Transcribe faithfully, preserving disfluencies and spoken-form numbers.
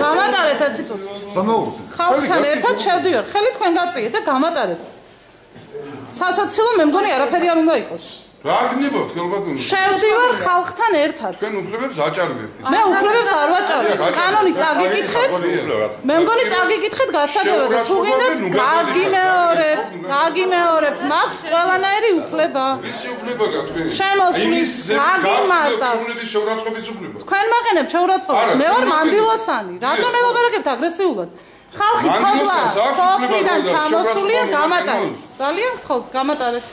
გამატარეთ ერთი წუთით. ხალხთან ერთად შევდივარ, ხელი თქვენ გაწიეთ და გამატარეთ. სასაცილო მე მგონი არაფერი არ უნდა იყოს. რა გნებობთ ხელბატონო? შევდივარ ხალხთან ერთად. თქვენ უფლებებს აჭარბებთ. მე უფლებებს არ ვაჭარბებ. კანონი წაგიკითხეთ. მე მგონი წაგიკითხეთ გასაგებად და თუ გინდათ გაგიმეორებთ, გაგიმეორებთ, მაქვს ყველანაირი უფლება. ისი უფლება გაქვთ თქვენ? შემოსვლის, გაგიმარტავთ. უნების შეურაცხყოფის უფლება. თქვენ მაყენებთ შეურაცხყოფას. მე ვარ მანდილოსანი. რატომ ელაპარაკებთ აგრესიულად? ხალხი ცოდვა, სოფლიდან ჩამოსულია გამატარეთ. ძალიან გთხოვთ, გამატარეთ.